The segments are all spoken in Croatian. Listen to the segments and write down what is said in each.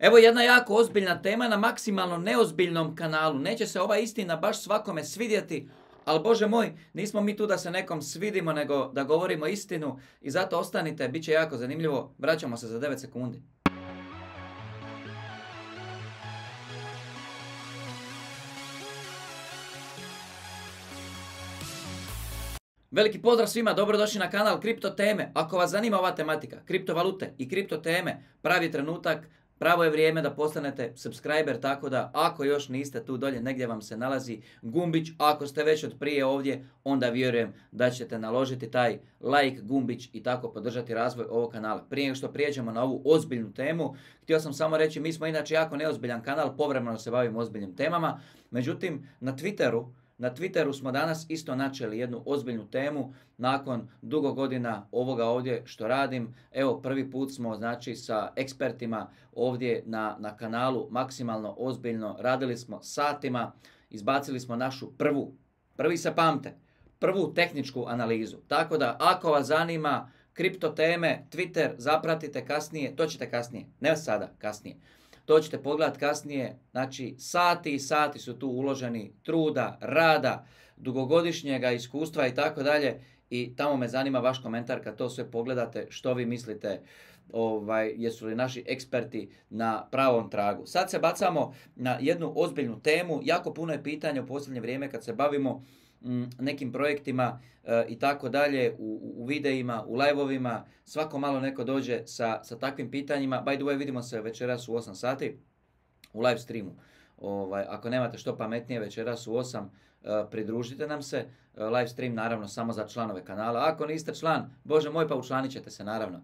Evo jedna jako ozbiljna tema na maksimalno neozbiljnom kanalu. Neće se ova istina baš svakome svidjeti, ali Bože moj, nismo mi tu da se nekom svidimo, nego da govorimo istinu i zato ostanite, bit će jako zanimljivo. Vraćamo se za 9 sekundi. Veliki pozdrav svima, dobrodošli na kanal Kripto teme. Ako vas zanima ova tematika, kriptovalute i kripto teme, pravi trenutak, pravo je vrijeme da postanete subscriber, tako da ako još niste tu dolje, negdje vam se nalazi gumbić. Ako ste već od prije ovdje, onda vjerujem da ćete naložiti taj like gumbić i tako podržati razvoj ovog kanala. Prije nego što prijeđemo na ovu ozbiljnu temu, htio sam samo reći, mi smo inače jako neozbiljan kanal, povremeno se bavimo ozbiljnim temama, međutim na Twitteru smo danas isto načeli jednu ozbiljnu temu nakon dugo godina ovoga ovdje što radim. Evo prvi put smo znači sa ekspertima ovdje na kanalu maksimalno ozbiljno. Radili smo satima, izbacili smo našu prvi se pamte, prvu tehničku analizu. Tako da ako vas zanima kripto teme, Twitter zapratite kasnije, to ćete kasnije, ne sada, kasnije. To ćete pogledati kasnije, znači sati i sati su tu uloženi truda, rada, dugogodišnjega iskustva i tako dalje. I tamo me zanima vaš komentar kad to sve pogledate, što vi mislite, jesu li naši eksperti na pravom tragu. Sad se bacamo na jednu ozbiljnu temu, jako puno je pitanja u posljednje vrijeme kad se bavimo nekim projektima i tako dalje, u videima, u live-ovima, svako malo neko dođe sa takvim pitanjima. By the way, vidimo se večeras u 8 sati u live streamu. Ako nemate što pametnije, večeras u 8 pridružite nam se. Live stream naravno samo za članove kanala. Ako niste član, Bože moj, pa učlanit ćete se naravno.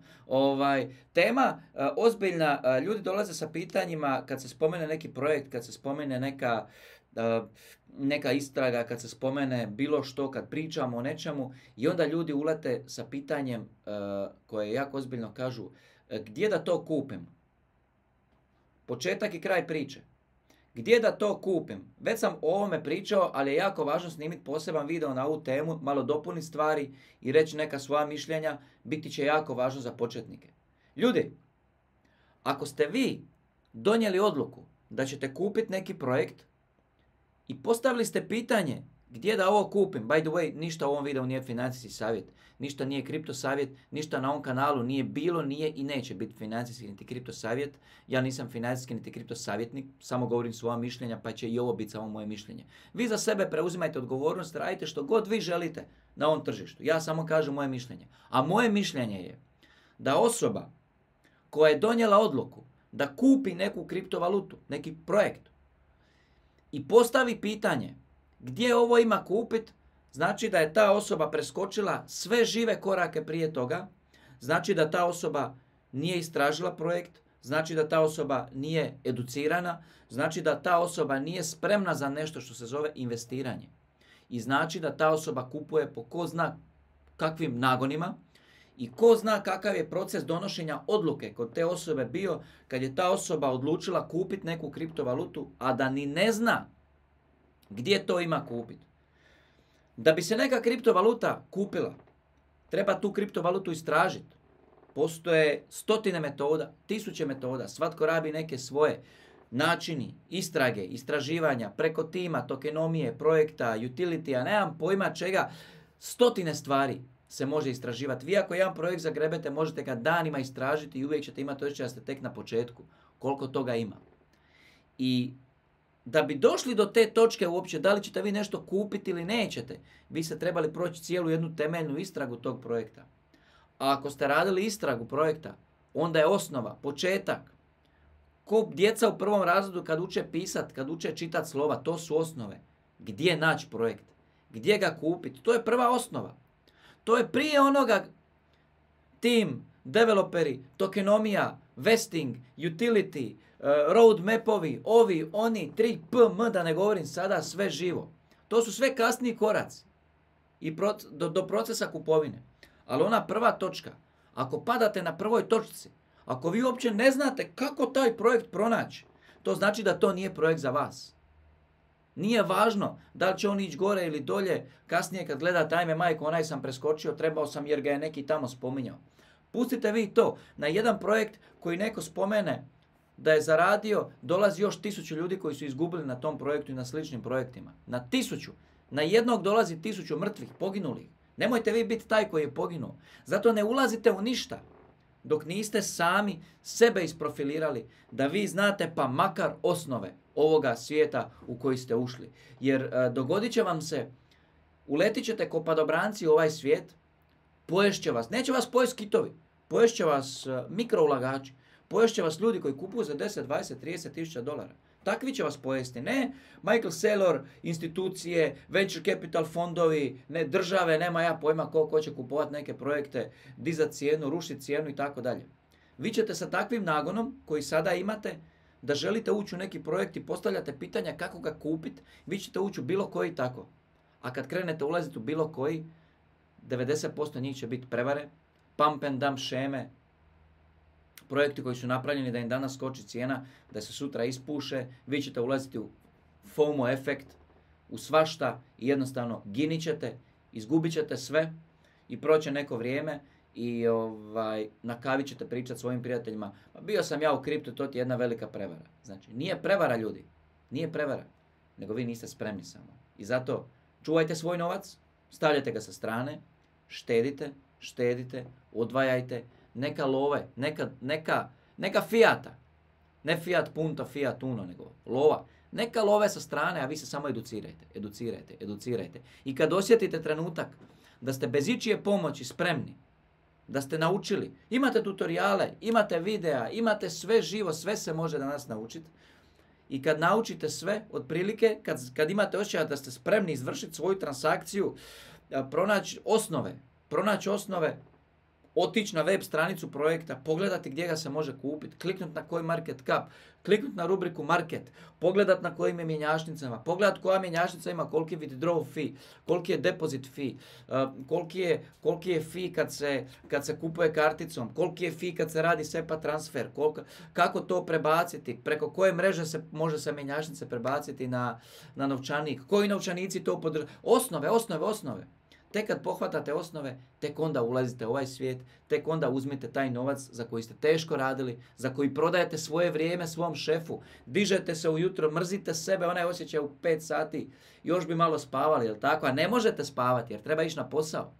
Tema ozbiljna, ljudi dolaze sa pitanjima kad se spomene neki projekt, kad se spomene neka istraga, kad se spomene bilo što, kad pričamo o nečemu i onda ljudi ulete sa pitanjem koje jako ozbiljno kažu gdje da to kupim? Početak i kraj priče. Gdje da to kupim? Već sam o ovome pričao, ali je jako važno snimiti poseban video na ovu temu, malo dopuniti stvari i reći neka svoja mišljenja, biti će jako važno za početnike. Ljudi, ako ste vi donijeli odluku da ćete kupiti neki projekt i postavili ste pitanje gdje da ovo kupim, by the way, ništa u ovom videu nije financijski savjet, ništa nije kripto savjet, ništa na ovom kanalu nije bilo, nije i neće biti financijski niti kripto savjet. Ja nisam financijski niti kripto savjetnik, samo govorim svoja mišljenja, pa će i ovo biti samo moje mišljenje. Vi za sebe preuzimajte odgovornost, radite što god vi želite na ovom tržištu. Ja samo kažem moje mišljenje. A moje mišljenje je da osoba koja je donijela odluku da kupi neku kriptovalutu, neki projekt, i postavi pitanje gdje ovo ima kupit, znači da je ta osoba preskočila sve žive korake prije toga, znači da ta osoba nije istražila projekt, znači da ta osoba nije educirana, znači da ta osoba nije spremna za nešto što se zove investiranje. I znači da ta osoba kupuje po ko zna kakvim nagonima i ko zna kakav je proces donošenja odluke kod te osobe bio kad je ta osoba odlučila kupiti neku kriptovalutu, a da ni ne zna gdje to ima kupiti. Da bi se neka kriptovaluta kupila, treba tu kriptovalutu istražiti. Postoje stotine metoda, tisuće metoda, svatko rabi neke svoje načini, istrage, istraživanja, preko tima, tokenomije, projekta, utility, a nemam pojma čega, stotine stvari se može istraživati. Vi ako jedan projekt zagrebete, možete ga danima istražiti i uvijek ćete imati osjećaj da ste tek na početku. Koliko toga ima. I da bi došli do te točke uopće, da li ćete vi nešto kupiti ili nećete, vi ste trebali proći cijelu jednu temeljnu istragu tog projekta. A ako ste radili istragu projekta, onda je osnova, početak. Ko djeca u prvom razredu kad uče pisat, kad uče čitat slova, to su osnove. Gdje naći projekt? Gdje ga kupiti? To je prva osnova. To je prije onoga tim, developeri, tokenomija, vesting, utility, roadmapovi, ovi, oni, 3PM, da ne govorim sada, sve živo. To su sve kasniji koraci i do procesa kupovine. Ali ona prva točka, ako padate na prvoj točci, ako vi uopće ne znate kako taj projekt pronaći, to znači da to nije projekt za vas. Nije važno da li će on ići gore ili dolje, kasnije kad gledate, ajme majko, onaj sam preskočio, trebao sam jer ga je neki tamo spominjao. Pustite vi to na jedan projekt koji neko spomene da je zaradio, dolazi još 1000 ljudi koji su izgubili na tom projektu i na sličnim projektima. Na 1000. Na jednog dolazi 1000 mrtvih, poginulih. Nemojte vi biti taj koji je poginuo. Zato ne ulazite u ništa dok niste sami sebe isprofilirali, da vi znate pa makar osnove ovoga svijeta u koji ste ušli. Jer dogodit će vam se, uletit ćete ko padobranci u ovaj svijet, poješće vas, neće vas pojesti kitovi, poješće vas mikroulagači, poješće vas ljudi koji kupuju za 10, 20, 30 tisuća dolara. Takvi će vas pojesti. Ne Michael Saylor, institucije, venture capital fondovi, ne države, nema ja pojma ko će kupovati neke projekte, dizati cijenu, rušiti cijenu i tako dalje. Vi ćete sa takvim nagonom koji sada imate, da želite ući u neki projekt i postavljate pitanja kako ga kupiti, vi ćete ući u bilo koji tako. A kad krenete ulaziti u bilo koji, 90% njih će biti prevare, pump and dump šeme, projekti koji su napravljeni da im danas skoči cijena, da se sutra ispuše, vi ćete ulaziti u FOMO efekt, u svašta i jednostavno ginit ćete, izgubit ćete sve i proće neko vrijeme i na kavi ćete pričati svojim prijateljima, pa bio sam ja u kriptu, to ti je jedna velika prevara. Znači, nije prevara ljudi, nije prevara, nego vi niste spremni samo. I zato čuvajte svoj novac, stavljajte ga sa strane, štedite, odvajajte, neka love, neka Fiata, ne Fiat Punto, Fiat Uno, nego lova. Neka love sa strane, a vi se samo educirajte. I kad osjetite trenutak da ste bez ičije pomoći spremni, da ste naučili, imate tutoriale, imate videa, imate sve živo, sve se može danas naučiti. I kad naučite sve, otprilike, kad imate osjećaj da ste spremni izvršiti svoju transakciju, pronaći osnove, otići na web stranicu projekta, pogledati gdje ga se može kupiti, kliknuti na koji market cap, kliknuti na rubriku market, pogledati na kojim je mjenjačnicama, pogledati koja mjenjačnica ima koliki withdraw fee, koliki je deposit fee, koliki je fee kad se kupuje karticom, koliki je fee kad se radi SEPA transfer, kako to prebaciti, preko koje mreže može se mjenjačnice prebaciti na novčanik, koji novčanici to podržavaju. Osnove. Tek kad pohvatate osnove, tek onda ulazite u ovaj svijet, tek onda uzmite taj novac za koji ste teško radili, za koji prodajete svoje vrijeme svom šefu, dižete se ujutro, mrzite sebe, onaj osjećaj u 5 sati, još bi malo spavali, jel tako? A ne možete spavati jer treba ići na posao.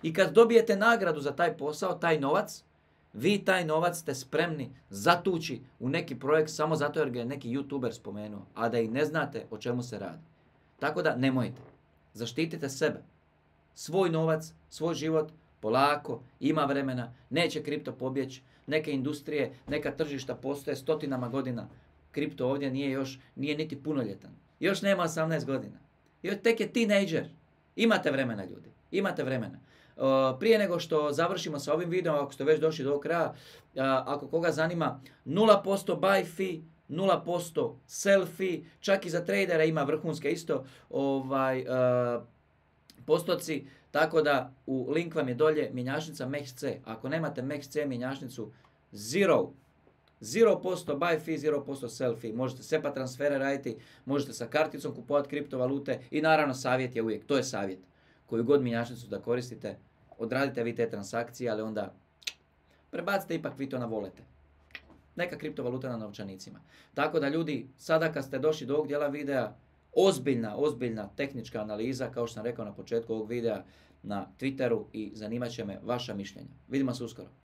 I kad dobijete nagradu za taj posao, taj novac, vi taj novac ste spremni zatući u neki projekt samo zato jer ga je neki YouTuber spomenuo, a da i ne znate o čemu se radi. Tako da nemojte. Zaštitite sebe. Svoj novac, svoj život, polako, ima vremena, neće kripto pobjeći, neke industrije, neka tržišta postoje stotinama godina. Kripto ovdje nije niti punoljetan. Još nema 18 godina. Još tek je teenager. Imate vremena, ljudi. Imate vremena. Prije nego što završimo sa ovim videom, ako ste već došli do kraja, ako koga zanima, 0% buy fee, 0% sell fee, čak i za tradere ima vrhunske isto postoci, tako da u link vam je dolje mjenjačnica MEXC. Ako nemate MEXC mjenjačnicu, 0% buy fee, 0% sell fee. Možete SEPA transfere raditi, možete sa karticom kupovati kriptovalute i naravno savjet je uvijek, to je savjet. Koju god mjenjačnicu da koristite, odradite vi te transakcije, ali onda prebacite ipak vi to na volete. Neka kriptovaluta na novčanicima. Tako da ljudi, sada kad ste došli do ovog dijela videa, ozbiljna tehnička analiza, kao što sam rekao na početku ovog videa, na Twitteru i zanimat će me vaša mišljenja. Vidimo se uskoro.